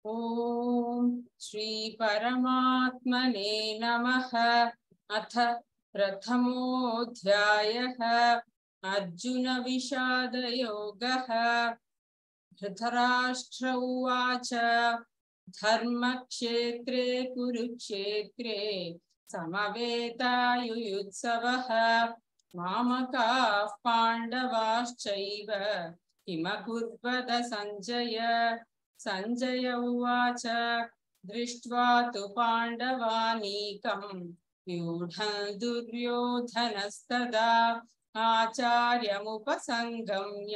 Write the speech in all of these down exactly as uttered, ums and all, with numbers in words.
ओम श्री परमात्मने नमः। अथ प्रथमोऽध्यायः अर्जुन विषाद योगः। धृतराष्ट्र उवाच धर्मक्षेत्रे कुरुक्षेत्रे समवेतायुयुत्सवः मामकाः पाण्डवाश्चैव किमकुर्वत सञ्जय। सञ्जय उवाच दृष्ट्वा तु पाण्डवानीकं व्यूढं दुर्योधनस्तदा आचार्यमुपसङ्गम्य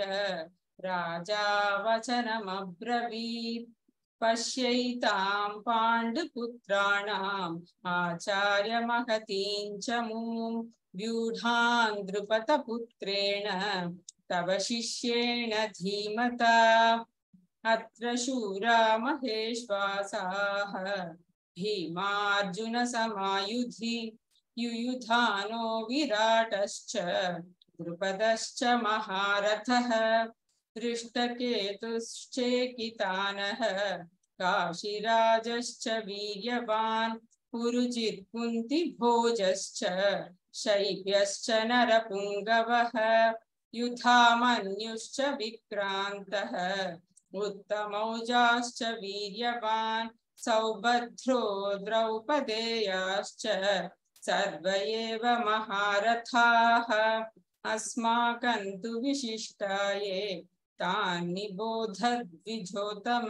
राजा वचनमब्रवीत्। पश्यैतां पाण्डुपुत्राणाम् आचार्यमहतीं च मूं व्यूढां द्रुपदपुत्रेण तव शिष्येण धीमता। अत्र शूरा महेश्वासाः भीमार्जुनसमायुधि युयुधानो विराटश्च द्रुपदश्च महारथः दृष्टकेतुश्चेकितानः काशीराजश्च वीर्यवान् पुरुजित् कुन्तिभोजश्च शैब्यश्च नरपुङ्गवः युधामन्युश्च विक्रान्तः उत्तमौजाश्च वीर्यवान् सौभद्रो द्रौपदेयाश्च सर्व एव महारथाः। अस्माकं तु विशिष्टाये तान् निबोधद्विजोत्तम।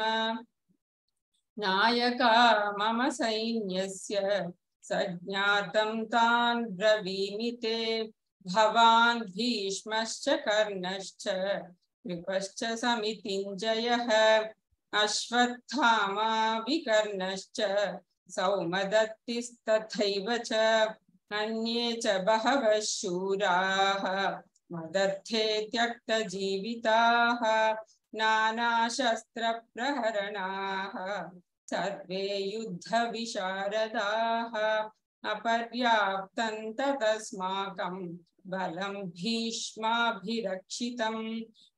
नायका मम सैन्यस्य सज्ञातं तान् ब्रवीमि ते। भवान् भीष्मश्च कर्णश्च कृपश्च समितिञ्जयः अश्वत्थामा विकर्णश्च सौमदत्तिस्तथैव च अन्ये च बहवः शूराः मदर्थे त्यक्तजीविताः नानाशस्त्रप्रहरणाः सर्वे युद्धविशारदाः। अपर्याप्तं तदस्माकं बलं भीष्माभिरक्षितं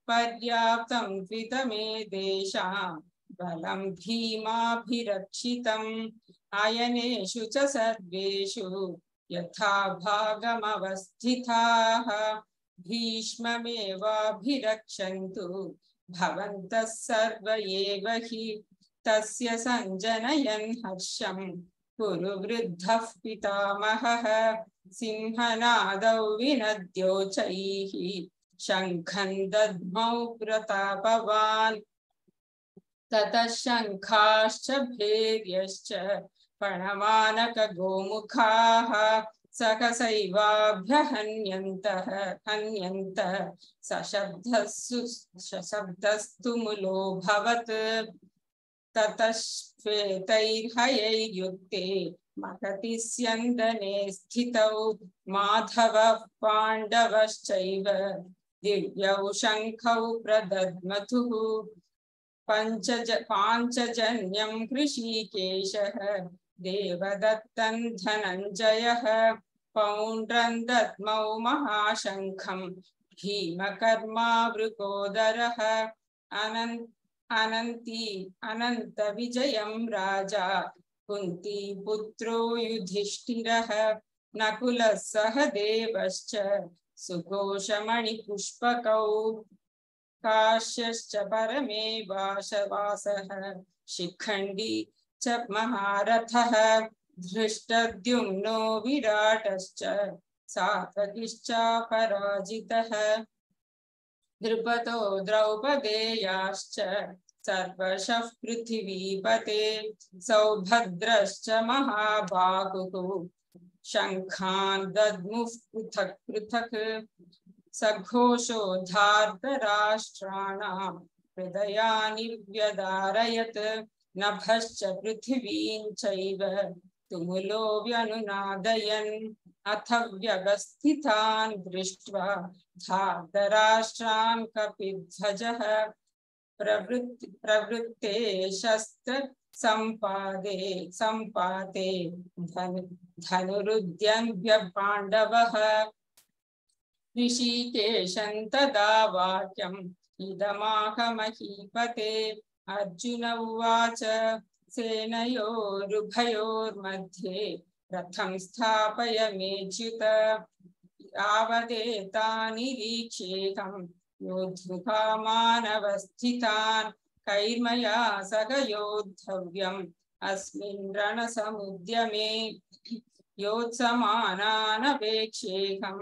पर्याप्तं त्विदमेतेषां बलं भीमाभिरक्षितम् अयनेषु च सर्वेषु यथा भागमवस्थिताः भीष्ममेवाभिरक्षन्तु भवन्तः सर्व एव हि। तस्य सञ्जनयन् हर्षं कुरु वृद्धः पितामहः सिंहनादौ विनद्योचैः शङ्खं दद्मौ प्रतापवान्। ततः शङ्खाश्च भैर्यश्च पणवानकगोमुखाः सहसैवाभ्यहन्यन्तः हन्यन्त सशब्दस्तु सशब्दस्तु मुलोऽभवत्। ततः श्वेतैर्हयैर्युक्ते महति स्यन्दने स्थितौ माधवः पाण्डवश्चैव दिव्यौ शङ्खौ प्रदद्मथुः। पञ्चज पाञ्चजन्यं हृषीकेशः देवदत्तं धनञ्जयः पौण्ड्रं दद्मौ महाशङ्खं भीमकर्मावृकोदरः अनन्त अनन्ती अनन्तविजयं राजा कुन्तीपुत्रो युधिष्ठिरः नकुलः सहदेवश्च सुघोषमणिपुष्पकौ काश्यश्च परमेवासवासः शिखण्डी च महारथः धृष्टद्युम्नो विराटश्च सात्वकिश्चापराजितः द्रुपदो द्रौपदेयाश्च सर्वशः पृथिवीपते सौभद्रश्च महाबाहुः शङ्खान् दद्मुः पृथक् पृथक् सघोषो धार्तराष्ट्राणां हृदयानि व्यदारयत् नभश्च पृथिवीं चैव तुमुलो व्यनुनादयन् अथ व्यवस्थितान् दृष्ट्वा धार्तराष्ट्रान् कपिध्वजः प्रवृत्ति प्रवृत्ते शस्त्र संपादे संपाते धनु धनुरुद्यम्य पाण्डवः ऋषिकेशं तदा वाक्यम् इदमाह महीपते अर्जुन उवाच सेनयोरुभयोर्मध्ये रथं स्थापयाम्युत यावदेतान्निरीक्ष्येऽहं योद्धुकामानवस्थितान् कैर्मया सह योद्धव्यम् अस्मिन् रणसमुद्यमे योत्समानानवेक्षेऽहं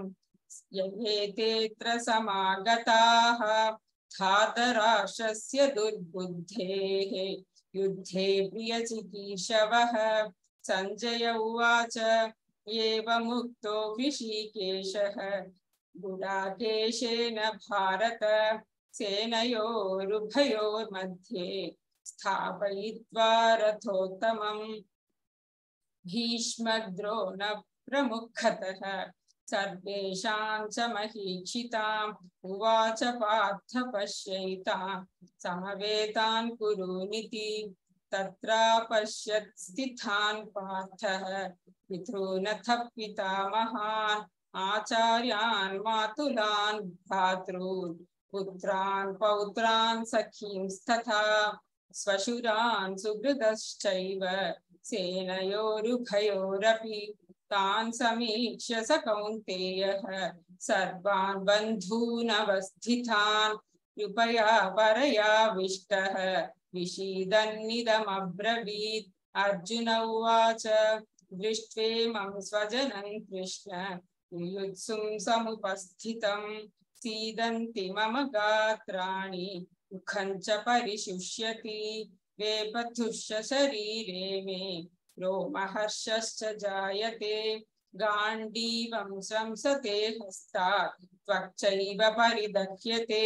ययेतेऽत्र समागताः धातराष्ट्रस्य दुर्बुद्धेः युद्धे प्रियचिकीर्षवः संजय उवाच एवमुक्तो ऋषिकेशः गुडाकेशेन भारत सेनयोरुभयोर्मध्ये स्थापयित्वा रथोत्तमम् भीष्मद्रोण प्रमुखतः सर्वेषां च महीक्षिताम् उवाच पार्थ पश्यैतां समवेतान् कुरूनिति तत्रा पश्यत् स्थितान् पार्थः पितॄनथ पितामहान् आचार्यान् मातुलान् भ्रातॄन् पुत्रान् पौत्रान् सखींस्तथा स्वशुरान् सुहृदश्चैव सेनयोरुभयोरपि तान् समीक्ष्य स कौन्तेयः सर्वान् बन्धूनवस्थितान् कृपया परयाविष्टः विषीदन्निदमब्रवीत् अर्जुन उवाच दृष्ट्वेमं स्वजनं कृष्ण युयुत्सुं समुपस्थितं सीदन्ति मम गात्राणि मुखं च परिशुष्यति वेपथुश्च शरीरे मे रोमहर्षश्च जायते गाण्डीवं स्रंसते हस्तात् त्वक्चैव परिदह्यते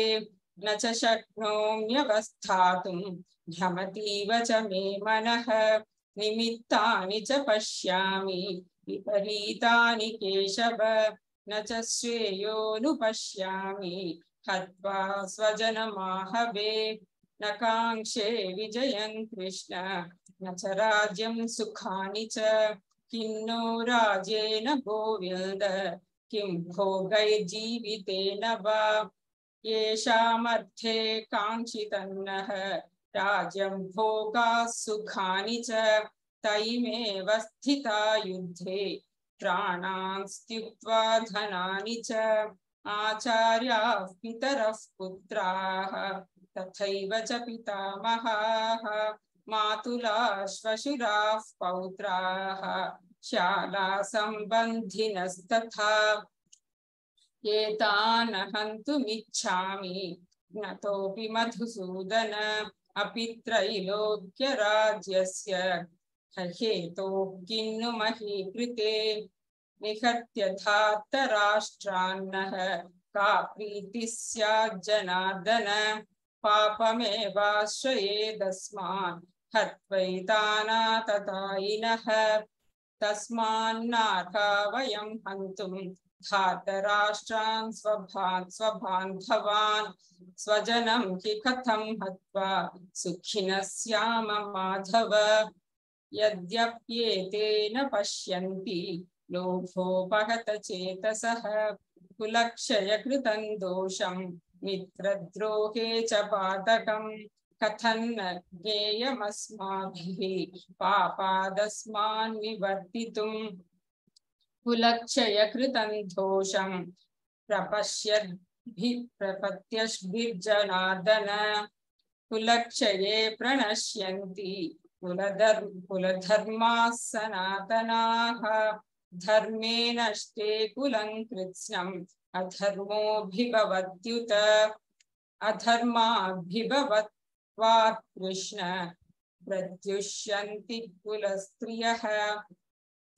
न च शक्नोम्यवस्थातुं भ्रमतीव च मे मनः निमित्तानि च पश्यामि विपरीतानि केशव न च श्रेयोनुपश्यामि हत्वा स्वजनमाहवे न काङ्क्षे विजयं कृष्ण न च राज्यं सुखानि च किन्नो राज्येन गोविन्द किं भोगैर्जीवितेन वा येषामर्थे काङ्क्षितन्नः राज्यं भोगाः सुखानि च तैमेव स्थिता युद्धे प्राणान् त्यक्त्वा धनानि च आचार्याः पितरः पुत्राः तथैव च पितामहाः मातुलाः श्वशुराः पौत्राः शाला सम्बन्धिनस्तथा एतान् हन्तुमिच्छामि ज्ञतोऽपि मधुसूदन अपि त्रैलोक्यराज्यस्य हेतोः किन्नु मही कृते निहत्य धार्तराष्ट्रान्नः का प्रीतिः स्यात् जनार्दन पापमेवाश्रयेदस्मान् हत्वैतानाततायिनः तस्मान्नार्हा वयं हन्तुं धार्तराष्ट्रान् स्वभान् स्वबान्धवान् स्वजनं हि कथं हत्वा सुखिनः स्याम माधव यद्यप्येतेन पश्यन्ति लोभोपहत चेतसः कुलक्षयकृतं दोषं मित्रद्रोहे च पातकं कथन्न ज्ञेयमस्माभिः पापादस्मान् निवर्तितुं कुलक्षयकृतं दोषं प्रपश्यद्भि प्रपत्यद्भिर्जनार्दन कुलक्षये प्रणश्यन्ति कुलधर्म कुलधर्माः सनातनाः धर्मे नष्टे कुलं कृत्स्नम् अधर्मोऽभिभवत्युत अधर्माभिभवत्वात् कृष्ण प्रद्युष्यन्ति कुलस्त्रियः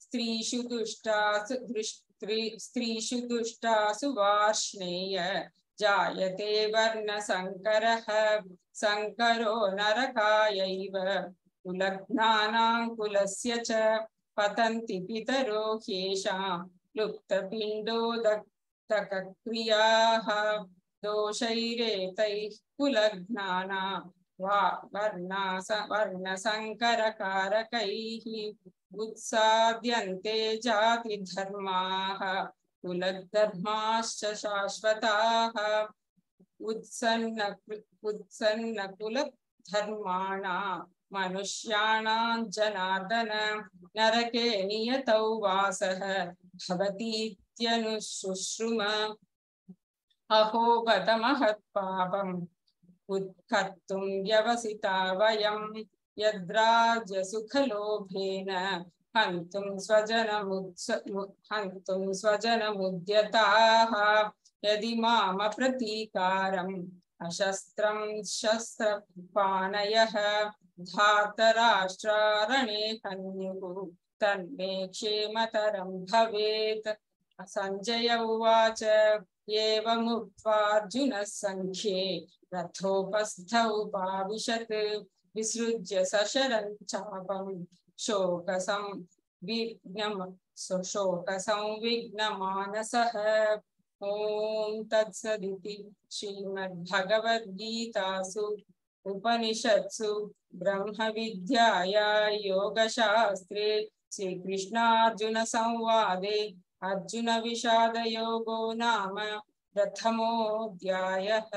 स्त्रीषु दुष्टासु स्त्रीषु दुष्टासु वार्ष्णेय जायते वर्णसङ्करः संकरो नरकायैव कुलघ्नानां कुलस्य च पतन्ति पितरो ह्येषां लुप्तपिण्डोदकक्रियाः दोषैरेतैः कुलघ्नानां वर्णसङ्करकारकैः उत्साद्यन्ते जातिधर्माः कुलधर्माश्च शाश्वताः उत्सन्न उत्सन्न कुल धर्माणां मनुष्याणां जनार्दन नरके नियतौ वासः भवतीत्यनुशुश्रुम अहो बत महत्पापम् उत्कर्तुं व्यवसिता वयं यद्राज्यसुखलोभेन हन्तुं स्वजनमुत्स हन्तुं स्वजनमुद्यताः यदि मामप्रतीकारम् अशस्त्रं शस्त्रपाणयः धातराष्ट्रारणे हन्युः तन्मे क्षेमतरं भवेत्। संजय उवाच एवमुक्त्वार्जुनः सङ्ख्ये रथोपस्थ उपाविशत् विसृज्य सशरं चापं शोकसंविघ्नं शोकसंविघ्नमानसः। ॐ तत्सदिति श्रीमद्भगवद्गीतासु उपनिषत्सु ब्रह्मविद्यायां योगशास्त्रे श्रीकृष्णार्जुन संवादे अर्जुन विषाद योगो नाम प्रथमोऽध्यायः।